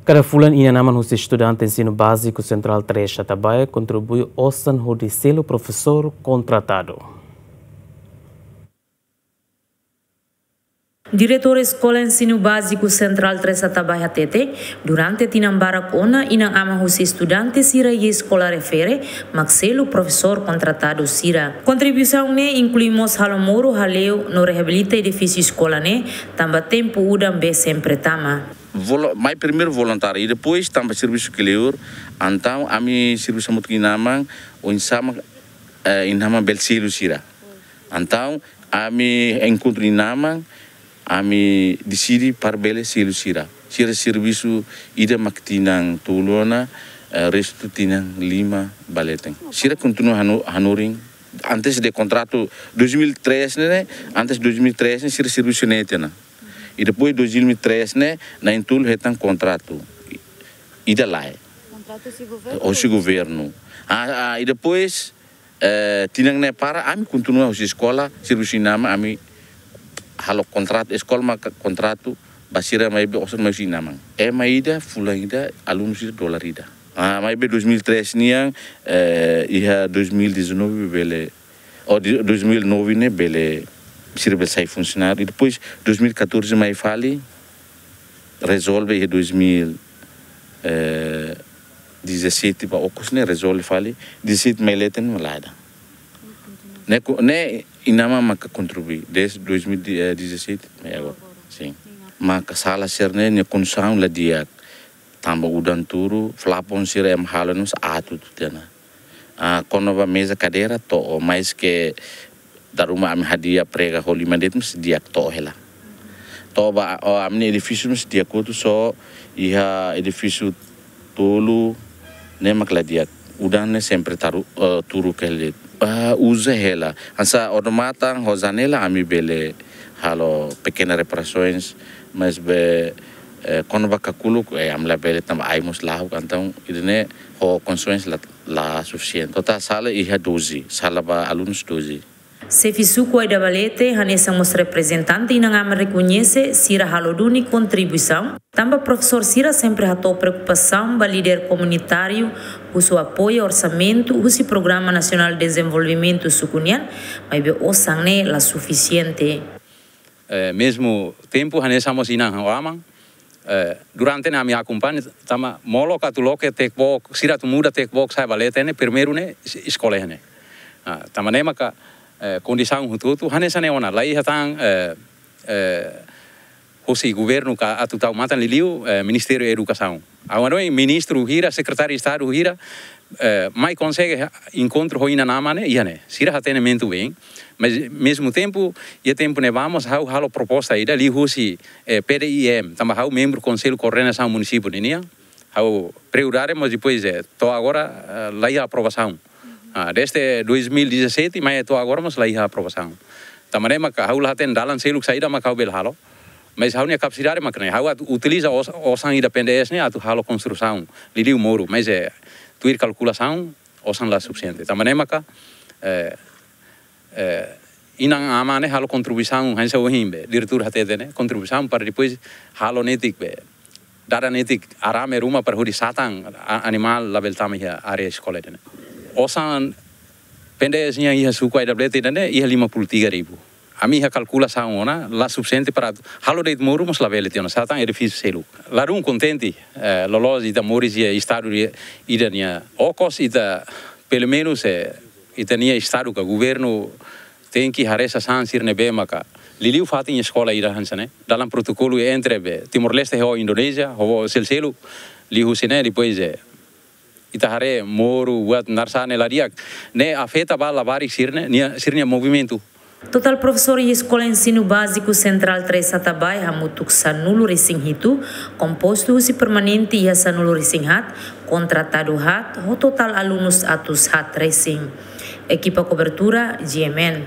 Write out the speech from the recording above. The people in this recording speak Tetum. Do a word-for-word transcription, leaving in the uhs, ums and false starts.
Kada fulan inan-aman husi estudante ensinu báziku Sentrál Três Atabaia kontribui osan hodi selu profesór kontratadu. Diretór Eskola Ensinu Báziku Sentrál Três Atabaia hatete, durante tinan barak ona inan-aman husi estudante sira iha eskola refere mak selu profesór kontratadu sira. Kontribuisaun ne'e inklui mós halo moru, hale'u no reabilita edifísiu eskola ne'e, tanba tempu udan bee sempre tama. Volo-, mai primeiru voluntáriu, i depois tanba servisu kleur, entaun ami servisu hamutuk ho inan-aman, oinsá mak, eh, inan-aman bele selu sira. Entaun ami enkontru inan-aman, ami deside para bele selu sira. Sira servisu ida mak tinan tolu ona, eh, restu tinan lima ba leten. Sira kontinua hanu-, hanorin, antes de kontratu dois mil e três ne'e, antes dois mil e três ne'e, sira servisu ne'e tiha ona. I depois dois mil e três ne'e, na'in-tolu hetan kontratu. Ida lae. Kontratu husi governu? Husi governu. Ah, ah, i depois, eh, tinan ne'e para, ami kontinua husi eskola, servisu inan-aman, ami halo kontratu, eskola maka kontratu, ba sira maibé osan mai husi inan-aman. Ema ida, fulan ida, alunu sira dolar ida. Ah, maibé dois mil e três nian, eh, iha dois mil e dezanove bele, ou di-, dois mil e nove ne'e bele, sira bele sai funsionáriu. I depois dois mil e catorze mai fali, rezolve iha dois mil, eh, dezassete ba okos ne'e rezolve fali, dezassete mai leten ne'e la ida. Ne'e ko-, ne'e inan-aman maka kontribui, desde dois mil e dezassete mai agora. Sin. Maka sala sira-ne'e nia kondisaun la di'ak. Tanba udan turu, plafon sira ema halo ne'e mós aat hotu tiha ona. Ah, kona-ba meza kadeira to'o, maske dala ruma ami hadi'a prega ho lima de'it mós di'ak to'o hela. To'o ba, oh, ami-nia edifísiu mós di'ak hotu, só iha edifísiu tolu ne'e mak la di'ak. Udan ne'e sempre taru, eh, turu kele. Ah, uza hela. Hanesan odamatan ho janela ami bele halo pekena reparasoens, maibé, eh, kona-ba kakuluk, eh, ami labele tanba ai mós lahuk, entaun ida-ne'e ho kondisoens la, la sufisiente. Totál sala iha doze, sala ba alunus doze. Xefe suku Aida Balete, hanesan mós reprezentante inan-aman rekoñese sira halo duni kontribuisaun, tanba profesór sira sempre hato'o preokupasaun ba líder komunitáriu, husu apoiu orsamentu husi Programa Nasionál Dezenvolvimentu suku nian, maibé osan ne'e la sufisiente. Eh, mezmu tempu, hanesan mós inan ho aman, eh, durante ne'e ami akompaña, tanba molok atu loke tekbok, sira atu muda tekbok sa'e ba leten ne'e, primeiru ne'e es-, eskola ne'e. Ah, tanba ne'e maka, eh, kondisaun hotu-hotu, hanesan ne'e ona, la iha tan, eh, eh, husi governu ka atu tau matan, liuliu, eh, Ministériu Edukasaun. Agora, ministru hira, sekretáriu Estadu hira, eh, mai konsege ha-, enkontru ho inan-aman ne'e, iha ne'e. Sira hatene mentu bem, mas, mezmu tempu, iha tempu ne'e vamos, ha'u halo proposta ida, liuhusi, eh, P D I M, tanba ha'u membru Konsellu Koordenasaun Munisípiu ninian, ha'u prioridade, mas depois, eh, to'o agora, eh, la iha aprovasaun. Ah, desde dois mil e dezassete, mai to'o agora mós la iha aprovasaun. Tanba ne'e maka ha'u la hatene dalan seluk saida maka ha'u bele halo. Mas ha'u-nia kapasidade maka ne'e, ha'u atu utiliza os-, osan ida P N D S ne'e atu halo konstrusaun, liuliu moru, mas, eh, tuir kalkulasaun, osan la sufisiente. Tanba ne'e maka, eh, eh, inan-aman ne'e halo kontribuisaun, hanesan ohin be diretór hatete ne'e, kontribuisaun para depois halo netik be, dada netik arame ruma para hodi satan a-, animál labele tama iha área eskola ne'e. Osan P N D S nian iha suku Aida Balete ne'e iha lima puluh tiga ribu. Ami iha kalkulasaun ona, la sufisiente para halo de'it moru, mas labele tiha ona, satan edifísiu seluk. Ladún kontente, eh, loloos ita moris iha estadu ida, ida-ne'e okos, ita pelumenus, eh, ita-nia estadu ka governu tenke haree sasán sira ne'ebé maka liuliu fatin eskola ida hanesan ne'e. Dalam protokolu entre be Timor-Leste ho Indonézia, ho seluk-seluk, liuhusi ne'e, depois, eh, ita haree moru, buat naran sá ne'e la di'ak, ne'e afeta ba labarik sira-ne'e, nia, sira-nia movimentu. Totál profesór iha Eskola Ensinu Báziku Sentrál Três Atabaia hamutuk sanulu-resin-hitu, kompostu husi permanente iha sanulu-resin-haat, kontratadu haat, ho totál alunus atus haat-resin. Ekipa kobertura, G M N.